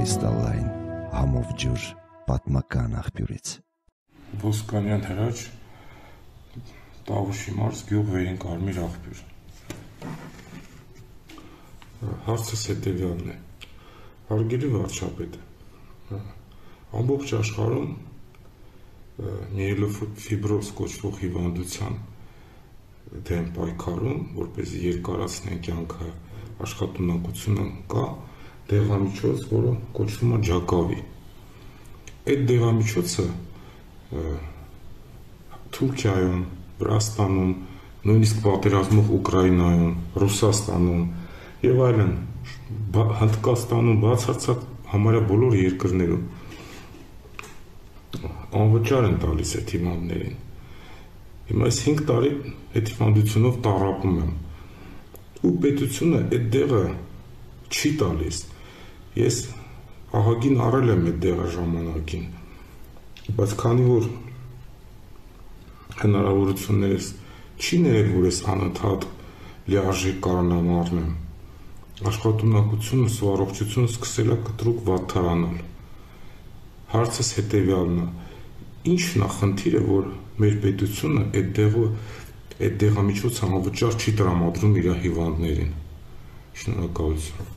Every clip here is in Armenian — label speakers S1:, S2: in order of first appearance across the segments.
S1: Կրիստալային համով ջուր պատմական աղբյուրից։
S2: Ոսկանյան հրաչ, Տավուշի մարզ, գյուղ Վերին Կարմիր աղբյուր։ Հարցս հետևյալն է. հարգելի վարչապետ, ամբողջ աշխարհում միելոֆիբրոզ կոչվող հիվանդության դեմ պայքարում, որպեսզի երկարացնեն կյանքը, աշխատունակությունը կա դեղամիջոց, որը կոչվում է Ջակավի։ Այդ դեղամիջոցը Թուրքիայում, Վրաստանում, նույնիսկ պատերազմող Ուկրաինայում, Ռուսաստանում եւ այլն, Հնդկաստանում, բացարձակ համարյա բոլոր երկրներում անվճար են տալիս այդ հիվանդներին։ Հիմա այս 5 տարի այդ հիվանդությունով տառապում եմ։ Ու պետությունը այդ դեղը չի տալիս։ Ես ահագին առել եմ այդ դեղը ժամանակին, բայց քանի որ հնարավորություններս չի ներել, որ ես անընդհատ լիարժեք կարողանամ առնեմ, աշխատունակությունս ու առողջությունս սկսել է կտրուկ վատթարանալ։ Հարցս հետևյալն է. ի՞նչն է խնդիրը, որ մեր պետությունը այդ դեղամիջոցը անվճար չի տրամադրում իր հիվանդներին։ Շնորհակալություն։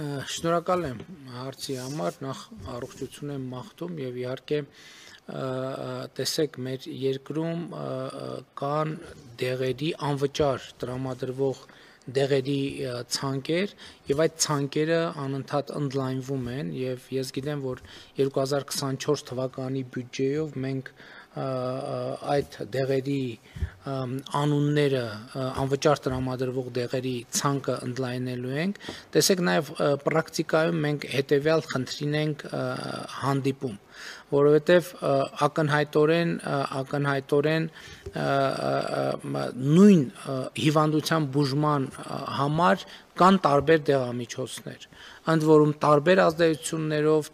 S3: Շնորհակալ եմ հարցի համար, նախ առողջություն եմ մաղթում եւ իհարկե տեսեք մեր երկրում կան դեղերի անվճար տրամադրվող դեղերի ցանկեր եւ այդ ցանկերը անընդհատ ընդլայնվում են եւ ես գիտեմ որ 2024 թվականի բյուջեով մենք այդ դեղերի անունները անվճար տրամադրվող դեղերի ցանկը ընդլայնելու ենք տեսեք նաև պրակտիկայում մենք հետեւյալ խնդրին ենք հանդիպում որովհետև ակնհայտորեն նույն հիվանդության բուժման համար կան տարբեր դեղամիջոցներ ընդ որում տարբեր ազդեցություններով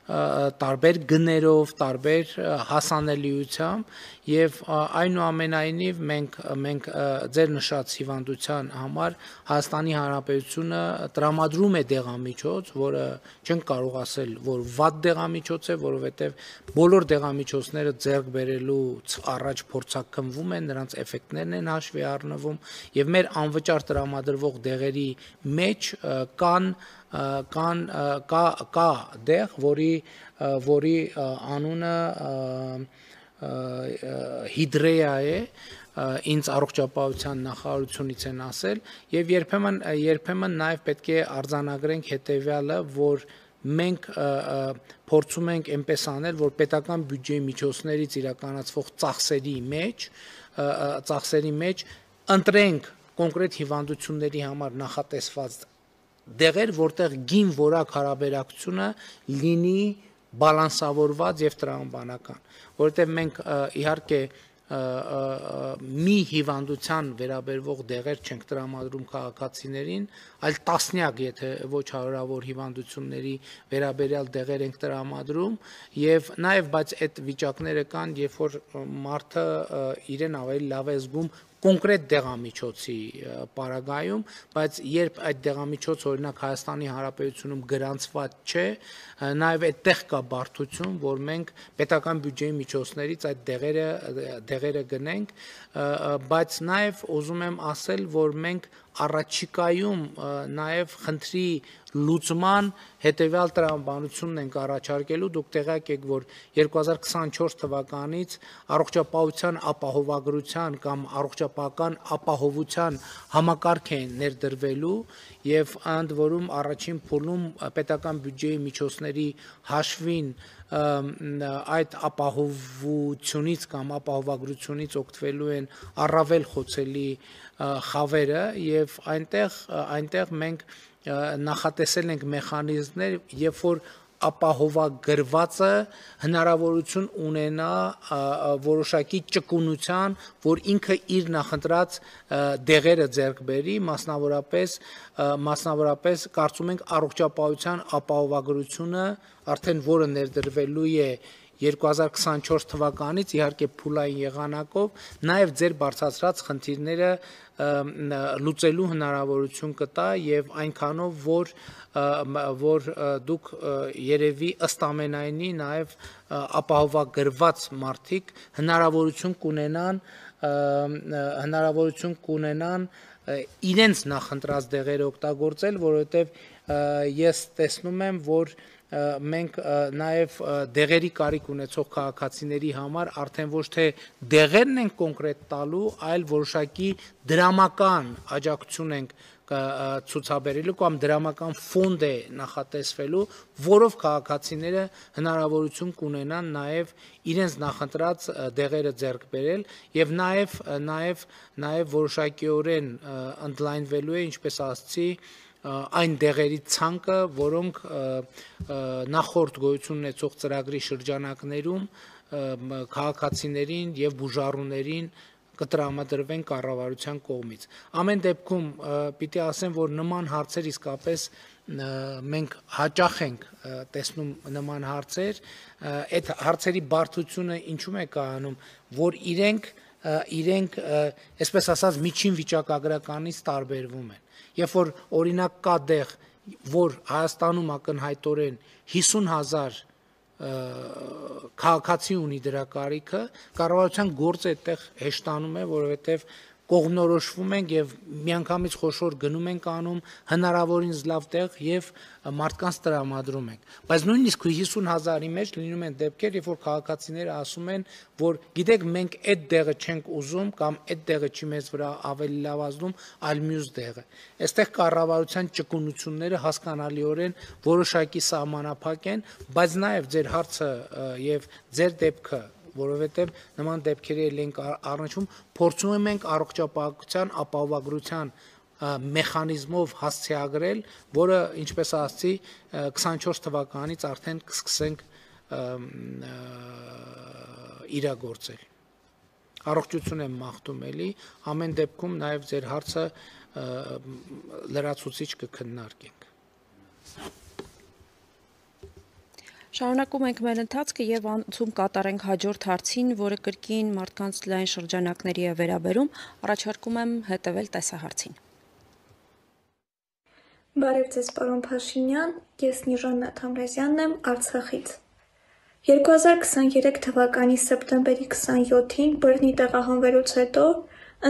S3: տարբեր գներով, տարբեր հասանելիությամբ եւ այնուամենայնիվ մենք ձեր նշած հիվանդության համար Հայաստանի Հանրապետությունը տրամադրում է դեղամիջոց, որը չենք կարող ասել, որ վատ դեղամիջոց է, որովհետեւ բոլոր դեղամիջոցները ձեռք բերելուց առաջ փորձաքննվում են, նրանց էֆեկտներն են հաշվի առնվում եւ մեր անվճար տրամադրվող դեղերի մեջ կա դեղ, որի անունը հիդրեա է, ինձ առողջապահության նախարարությունից են ասել եւ երբեմն նաեւ պետք է արձանագրենք հետեւյալը, որ մենք փորձում ենք այնպես անել, որ պետական բյուջեի միջոցներից իրականացվող ծախսերի մեջ ընտրենք կոնկրետ հիվանդությունների համար նախատեսված դեղեր, որտեղ գին որակ հարաբերակցությունը լինի բալանսավորված եւ տրամաբանական, որովհետեւ մենք իհարկե մի հիվանդության վերաբերվող դեղեր չենք տրամադրում քաղաքացիներին, այլ տասնյակ, եթե ոչ հարյուրավոր հիվանդությունների վերաբերյալ դեղեր ենք տրամադրում եւ նաեւ բայց այդ վիճակները կան, երբ որ մարդը իրեն ավելի լավ է զգում կոնկրետ դեղամիջոցի պարագայում, բայց երբ այդ դեղամիջոցը օրինակ Հայաստանի Հանրապետությունում գրանցված չէ, նաև այդտեղ կա բարդություն, որ մենք պետական բյուջեի միջոցներից այդ դեղերը գնենք, բայց նաև ուզում եմ ասել, որ մենք առաջիկայում նաև խնդրի լուծման հետևյալ տրամաբանությունն ենք առաջարկելու, դուք տեղյակ եք, որ 2024 թվականից առողջապահության ապահովագրության կամ առողջապահական ապահովության համակարգ է ներդրվելու եւ ընդ որում առաջին փուլում պետական բյուջեի միջոցների հաշվին այդ ապահովությունից կամ ապահովագրությունից օգտվելու են առավել խոցելի խավերը եւ այնտեղ մենք նախատեսել ենք մեխանիզմներ, երբ որ ապահովագրվածը հնարավորություն ունենա որոշակի ճկունության, որ ինքը իր նախընտրած դեղերը ձեռք բերի, մասնավորապես կարծում ենք առողջապահության ապահովագրությունը արդեն որը ներդրվելու է 2024 թվականից իհարկե փուլային եղանակով նաև ձեր բարձրացրած խնդիրները լուծելու հնարավորություն կտա եւ այնքանով որ դուք երևի ըստ ամենայնի նաև ապահովագրված մարդիկ հնարավորություն կունենան իրենց նախընտրած դեղերը օգտագործել, որովհետև ես տեսնում եմ, որ մենք նաև դեղերի կարիք ունեցող քաղաքացիների համար արդեն ոչ թե դեղերն ենք կոնկրետ տալու, այլ որոշակի դրամական աջակցություն ենք ցուցաբերելու կամ դրամական ֆոնդ է նախատեսվելու, որով քաղաքացիները հնարավորություն կունենան նաև իրենց նախընտրած դեղերը ձեռք բերել եւ նաև որոշակիորեն ընդլայնվելու է, ինչպես ասացի, այն դեղերի ցանկը, որոնք նախորդ գոյություն ունեցող ծրագրի շրջանակներում քաղաքացիներին եւ բուժառուներին կտրամադրվեն կառավարության կողմից։ Ամեն դեպքում պիտի ասեմ, որ նման հարցեր իսկապես մենք հաճախ ենք տեսնում նման հարցեր, այդ հարցերի բարդությունը ինչու՞մ է կայանում, որ իրենք այսպես ասած միջին վիճակագրականից տարբերվում են։ Երբ որ օրինակ կա դեղ, որ Հայաստանում ակնհայտորեն 50,000 քաղաքացի ունի դրա կարիքը, կառավարության գործը այդտեղ հեշտանում է, որովհետև կողմնորոշվում ենք եւ միանգամից խոշոր գնում ենք անում հնարավորինս լավ տեղ եւ մարդկանց տրամադրում ենք, բայց նույնիսկ 50,000-ի մեջ լինում են դեպքեր, երբ որ քաղաքացիները ասում են, որ գիտեք մենք այդ դեղը չենք ուզում կամ այդ դեղը չի մեզ վրա ավելի լավազդում, այլ մյուս դեղը։ Այստեղ կառավարության ճկունությունները հասկանալիորեն որոշակի սահմանափակ են, բայց նաեւ ձեր հարցը եւ ձեր դեպքը որովհետև նման դեպքերի ենք առնչվում, փորձում ենք առողջապահության ապահովագրության մեխանիզմով հասցեագրել, որը, ինչպես ասացի, 24 թվականից արդեն կսկսենք իրագործել։ Առողջություն եմ մաղթում էլի, ամեն դեպքում նաև ձեր հարցը լրացուցիչ կքննարկենք։
S4: Շարունակում ենք մեր ընթացքը եւ անցում կատարենք հաջորդ հարցին, որը կրկին մարդկանց լայն շրջանակների է վերաբերում, առաջարկում եմ հետևել տեսահարցին։
S5: Բարև ձեզ, պարոն Փաշինյան, ես Նիժան Թամրազյանն եմ Արցախից։ 2023 թվականի սեպտեմբերի 27-ին բռնի տեղահանվելուց հետո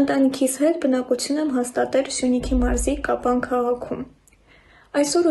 S5: ընտանիքիս հետ բնակություն եմ հաստատել Սյունիքի մարզի Կապան քաղաքում։ Այսօր